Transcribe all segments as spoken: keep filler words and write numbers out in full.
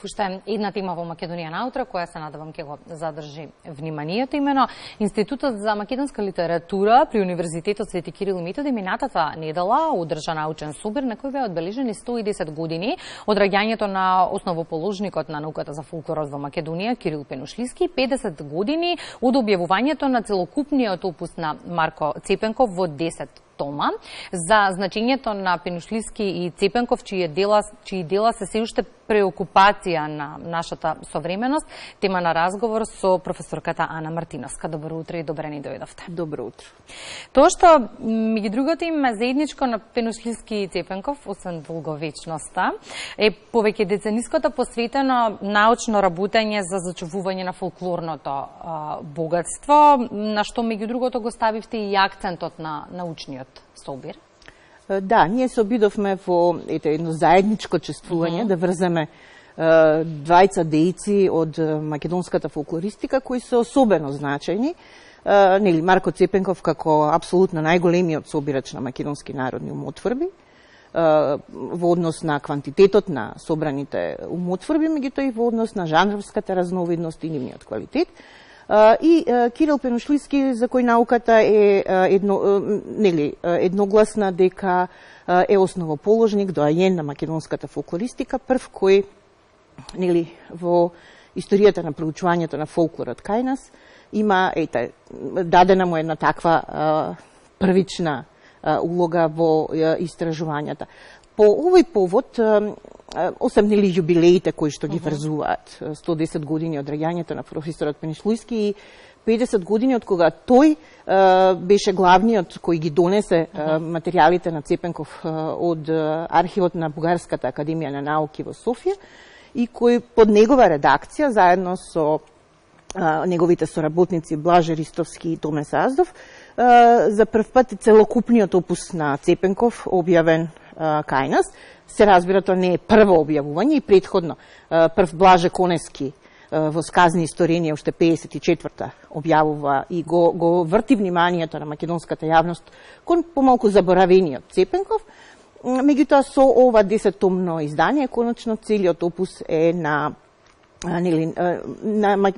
уште една тема во Македонија наутро, која се надевам ќе го задржи вниманието, имено Институтот за македонска литература при Универзитетот Свети Кирил и Методи минатата недела одржа научен собир на кој беа одбележени сто и десет години од раѓањето на основоположникот на науката за фолклорот во Македонија Кирил Пенушлиски, педесет години од објавувањето на целокупниот опус на Марко Цепенков во десет тома, за значењето на Пенушлиски и Цепенков, чии дела, чии дела се се уште преокупација на нашата современост, тема на разговор со професорката Ана Мартиновска. Добро утро и добре ни дојдовте. Добро утро. Тоа што меѓу другото им заедничко на Пенушлиски и Цепенков, освен долговечноста, е повеќе децениското посветено научно работење за зачувување на фолклорното а, богатство, на што меѓу другото го ставивте и акцентот на научниот собир. Да, ние се обидовме во ете едно заедничко чествување, uh -huh. да врземе е, двајца дејци од македонската фолклористика кои се особено значајни. Е, нели Марко Цепенков како апсолутно најголемиот собирач на македонски народни умотворби, е, во однос на квантитетот на собраните умотворби, меѓутоа и во однос на жанровската разновидност и нивниот квалитет. И Кирил Пенушлиски, за кој науката е едно, нели, едногласна дека е основоположник, доајен на македонската фолклористика, прв кој, нели, во историјата на проучувањето на фолклорот кај нас има, ете, дадена му една таква првична улога во истражувањата. По овој повод, осем нели јубилеите кои што ги врзуваат сто и десет години од раѓањето на професорот Пенушлиски и педесет години од кога тој е, беше главниот кој ги донесе е, материјалите на Цепенков е, од архивот на Бугарската академија на науки во Софија и кој под негова редакција заедно со е, неговите соработници Блаже Ристовски и Томе Саздов е, за прв пат целокупниот опус на Цепенков објавен кај нас. Се разбира, тоа не е прво објавување и предходно прв Блаже Конески во Сказни историја уште педесет и четврта објавува и го, го врти вниманието на македонската јавност кон помалку заборавениот Цепенков. Меѓутоа со ова десеттомно издание конечно целиот опус е на, нели, на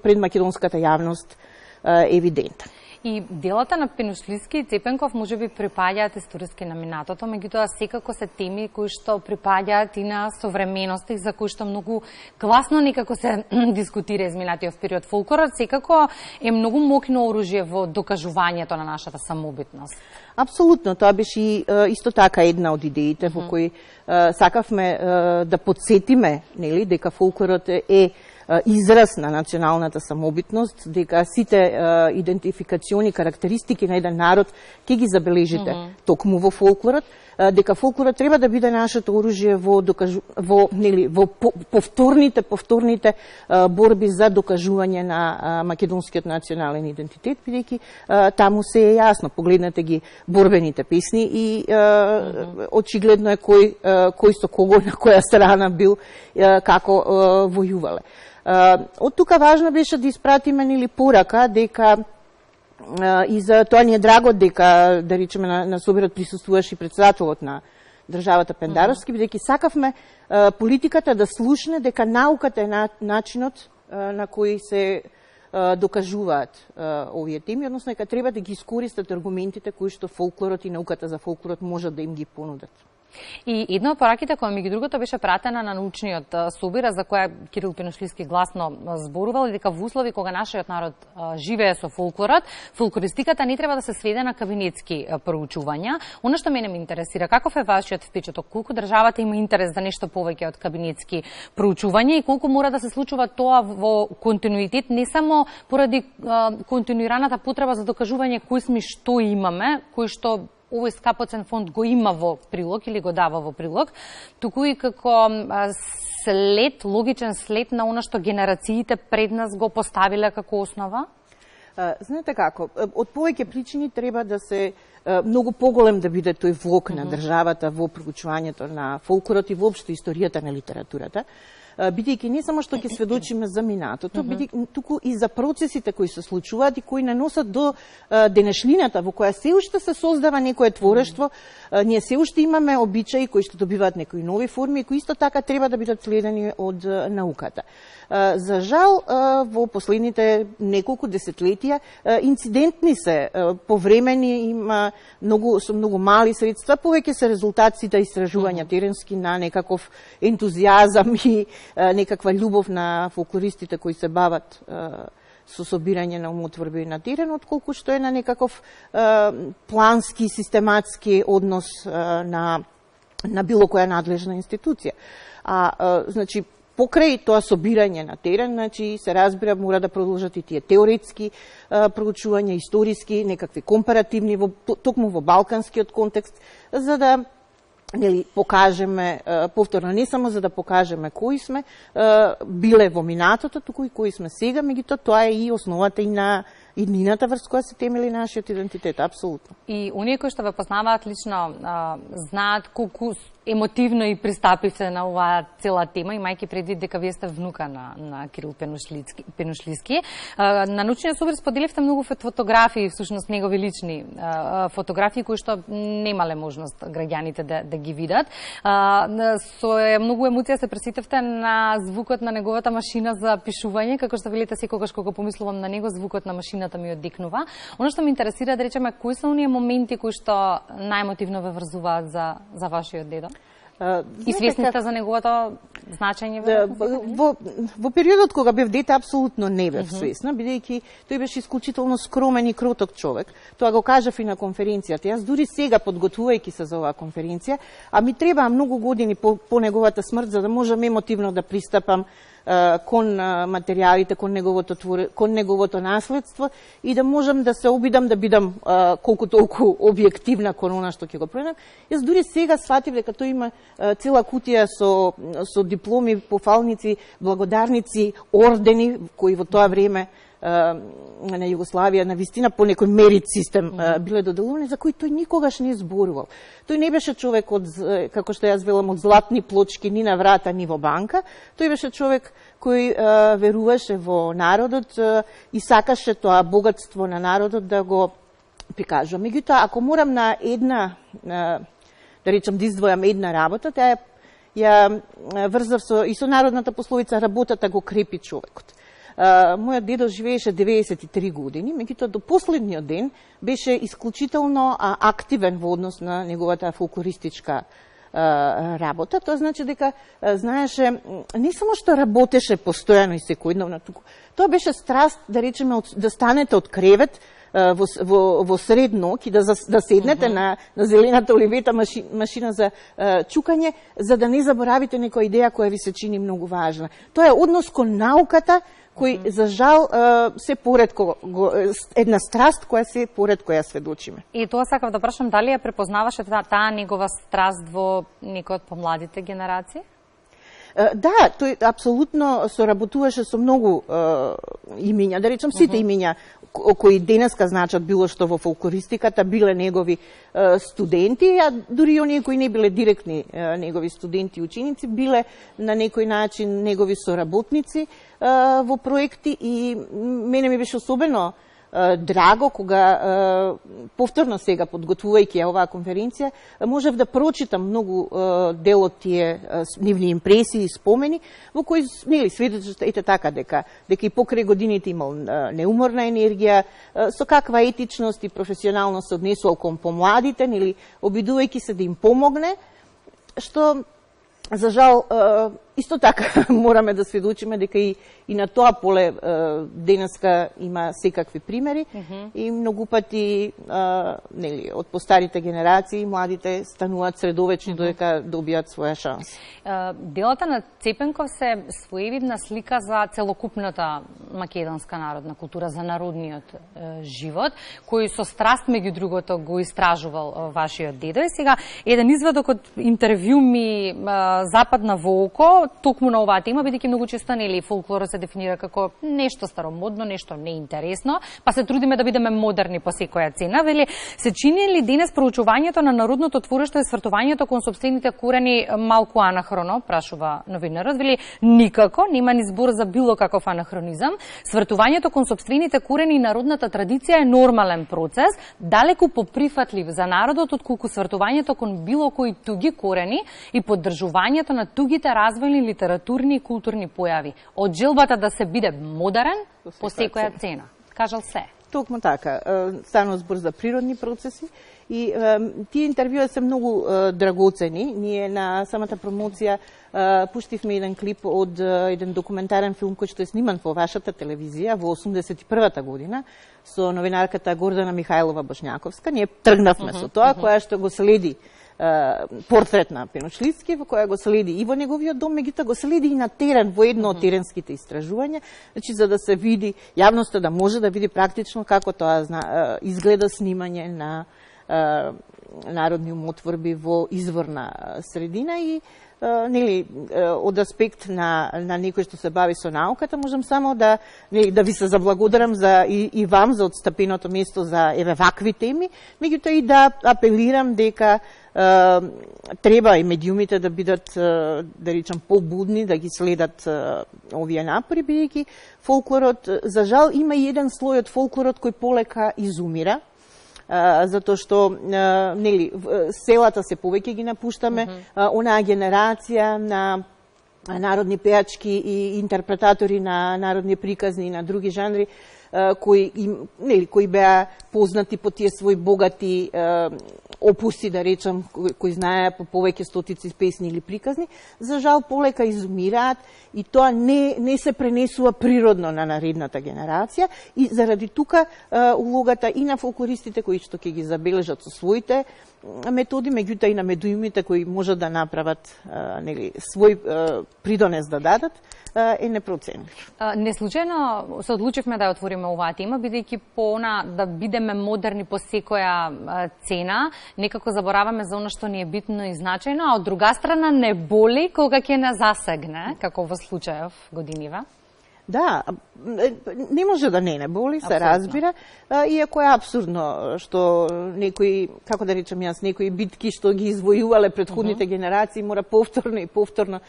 пред македонската јавност евидентен. И делата на Пенушлиски и Цепенков може би припаѓаат историски на минатото, меѓутоа секако се теми кои што припаѓаат и на современоста и за кои што многу гласно некако се дискутира изминатиот период. Фолклорот секако е многу мокно оружје во докажувањето на нашата самобитност. Апсолутно, тоа беше и исто така една од идеите во кои сакавме да подсетиме, нели, дека фолклорот е израз на националната самобитност, дека сите е, идентификациони карактеристики на еден народ ќе ги забележите mm -hmm. токму во фолклорот, е, дека фолклорот треба да биде нашето оружје во докажу, во нели во повторните повторните е, борби за докажување на е, македонскиот национален идентитет, бидејќи таму се е јасно, погледнете ги борбените песни и е, mm -hmm. очигледно е кој е, кој со кого на која страна бил, е, како е, војувале. Uh, од тука важно беше да испратиме нели порака дека uh, и за тоа ни е драго дека да речеме на, на собирот присуствуваше и председателот на државата Пендаровски, бидејќи сакавме uh, политиката да слушне дека науката е на, начинот uh, на кој се uh, докажуваат uh, овие теми, односно дека треба да ги искористат аргументите кои што фолклорот и науката за фолклорот можат да им ги понудат. И една од пораките која меѓу другото беше пратена на научниот собир, за која Кирил Пенушлиски гласно зборувал, дека во услови кога нашиот народ живее со фолклорот, фолклористиката не треба да се сведе на кабинетски проучувања. Оно што мене ме интересира, каков е вашиот впечаток, колку државата има интерес за нешто повеќе од кабинетски проучувања и колку мора да се случува тоа во континуитет, не само поради континуираната потреба за докажување кои сме, што имаме, кои што овој скапоцен фонд го има во прилог или го дава во прилог, туку и како след, логичен след на она што генерациите пред нас го поставиле како основа? Знаете како, од повеќе причини треба да се многу поголем да биде тој влог на државата во проучувањето на фолклорот и воопшто историјата на литературата. бидејќи не само што ќе сведочиме за минатото, бидејќи туку и за процесите кои се случуваат и кои наносат до денешнината во која се уште се создава некое творештво. Ние се уште имаме обичаи кои што добиваат некои нови форми и кои исто така треба да бидат следени од науката. За жал, во последните неколку десетлетија инцидентни се, повремени, има многу со многу мали средства, повеќе се резултатите истражувања теренски на некаков ентузијазам и некаква љубов на фолклористите кои се бават со собирање на умотворби на терен, отколку што е на некаков плански, систематски однос на на било која надлежна институција. А, значи, покрај тоа собирање на терен, значи, се разбира, мора да продолжат и тие теоретски а, проучувања, историски, некакви компаративни, во, токму во балканскиот контекст, за да нели, покажеме, а, повторно, не само за да покажеме кои сме а, биле во минатото, туку и кои сме сега, меѓутоа тоа е и основата и на иднината врз која се темели нашиот идентитет, апсолутно. И оние кои што ве познаваат лично, а, знаат колку емотивно и пристапивте на оваа цела тема, имајќи предвид дека вие сте внука на, на Кирил Пенушлиски. Пенушлиски. А, на научниот собир споделивте многу фотографии, всушност негови лични а, фотографии, кои што немале можност граѓаните да, да ги видат. А, со многу емоција се пресетивте на звукот на неговата машина за пишување, како што велите секогаш кога помислувам на него, звукот на машината ми оддекнува. Оно што ме интересира, да речеме, кои се оние моменти кои што најемотивно ве врзуваат за, за вашиот дедо? Uh, и свесни сте за неговото значење? Да, во, во периодот кога бев дете, апсолутно не бев uh -huh. свесна, бидејќи тој беше исклучително скромен и кроток човек. Тоа го кажав и на конференцијата. Јас дури сега, подготвувајќи се за оваа конференција, а ми требаа многу години по, по неговата смрт, за да можам емотивно да пристапам кон материјалите, кон неговото твор... кон неговото наследство и да можам да се обидам да бидам колку толку објективна кон она што ќе го пронајдам. Јас дури сега сватив дека тој има цела кутија со со дипломи, пофалници, благодарници, ордени кои во тоа време на Југославија на вистина по некој мерит систем mm-hmm. биле доделувани, за кои тој никогаш не зборувал. Тој не беше човек од, како што јас велам, од златни плочки ни на врата, ни во банка. Тој беше човек кој а, веруваше во народот а, и сакаше тоа богатство на народот да го прикажува. Меѓутоа, ако морам на една, а, да речам, да издвојам една работа, таа ја врзав со, и со народната пословица работата го крепи човекот. Uh, мојот дедо живееше деветдесет и три години, меѓутоа до последниот ден беше исклучително а, активен во однос на неговата фолклористичка а, работа. Тоа значи дека а, знаеше не само што работеше постојано и секојдневно, туку тоа беше страст, да речеме, од, да станете од кревет а, во, во, во сред ноќ и да, да седнете uh -huh. на, на зелената оливета маши, машина за а, чукање, за да не заборавите некоја идеја која ви се чини многу важна. Тоа е однос кон науката, кој, за жал, се поредко, една страст која се поредко ја сведочиме. И тоа сакав да прашам, дали ја препознаваше таа, таа негова страст во некој од помладите генерации? Да, тој апсолутно соработуваше со многу е, имиња, да речам сите uh -huh. имиња кои денеска значат било што во фолклористиката, биле негови е, студенти, а дури оние кои не биле директни е, негови студенти и ученици, биле на некој начин негови соработници е, во проекти и мене ми беше особено драго кога повторно сега подготвувајќи ја оваа конференција можев да прочитам многу дел од тие нивни импресии и спомени во кои нели сведочат ете така дека дека и покрај годините имал неуморна енергија, со каква етичност и професионалност се однесувал кон помладите, нели обидувајќи се да им помогне, што за жал исто така мораме да сведочиме дека и, и на тоа поле денеска има секакви примери uh -huh. и многу пати нели од постарите генерации младите стануваат средовечни uh -huh. додека добијат своја шанс. Делата на Цепенков се своевидна слика за целокупната македонска народна култура, за народниот живот, кој со страст меѓу другото го истражувал вашиот дедо. И сега еден извадок од интервју ми западна во око, токму на оваа тема, бидејќи многу често нели фолклорот се дефинира како нешто старомодно, нешто неинтересно, па се трудиме да бидеме модерни по секоја цена. Вели, се чини ли денес проучувањето на народното твориште и свртувањето кон сопствените корени малку анахроно, прашува новинарот. Вели, никако, нема ни збор за било каков анахронизам. Свртувањето кон сопствените корени и народната традиција е нормален процес, далеку поприфатлив за народот отколку свртувањето кон било кои туги корени и поддржувањето на тугите развојни литературни и културни појави. Од желбата да се биде модерен по секоја цена. Кажал се. Токму така. Станува збор за природни процеси и е, тие интервјуи се многу е, драгоцени. Ние на самата промоција е, пуштивме еден клип од е, еден документарен филм кој што е сниман во вашата телевизија во осумдесет и првата година со новинарката Гордана Михајлова Бошњаковска. Ние тргнавме uh -huh, со тоа, uh -huh. која што го следи портрет на Пеношлицки, во која го следи и во неговиот дом, меѓутоа го следи и на терен, во едно од теренските истражувања, значи за да се види, јавноста да може да види практично како тоа изгледа снимање на народни умотворби во изворна средина и нели од аспект на на некој што се бави со науката, можам само да нели да ви се заблагодарам за и, и вам за отстапеното место за еве вакви теми, меѓутоа и да апелирам дека треба и медиумите да бидат, да речам, побудни, да ги следат овие напори, бидејќи фолклорот, за жал, има и еден слој од фолклорот кој полека изумира, затоа што нели селата се повеќе ги напуштаме, mm -hmm. онаа генерација на народни пеачки и интерпретатори на народни приказни и на други жанри кои им, нели кои беа познати по тие своји богати опуси, да речам, кои знаеа по повеќе стотици песни или приказни, за жал полека изумираат и тоа не не се пренесува природно на наредната генерација и заради тука улогата и на фолклористите кои што ќе ги забележат со своите методи, меѓутоа и на медиумите кои можат да направат нели свој придонес да дадат, е непроценлив. Не случајно се одлучивме да ја отвориме оваа тема, бидејќи по она да бидеме модерни по секоја цена, некако забораваме за она што ни е битно и значајно, а од друга страна не боли кога ќе не засегне, како во случајов годинива. Да, не може да не не боли, се разбира, иако е апсурдно што некои, како да речем јас, некои битки што ги извојувале предходните uh -huh. генерации мора повторно и повторно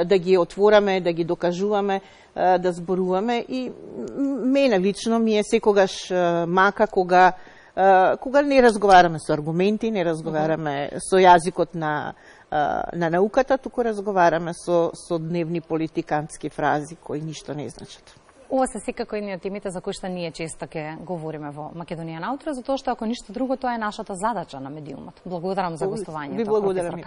да ги отвораме, да ги докажуваме, да зборуваме и мене лично ми е секогаш мака кога кога не разговараме со аргументи, не разговараме uh -huh. со јазикот на на науката, туку разговараме со, со дневни политикански фрази кои ништо не значат. Ова се секако едни од темите за кои што ние често ќе говориме во Македонија наутро, затоа што ако ништо друго, тоа е нашата задача на медиумот. Благодарам за гостувањето. Ви благодарам.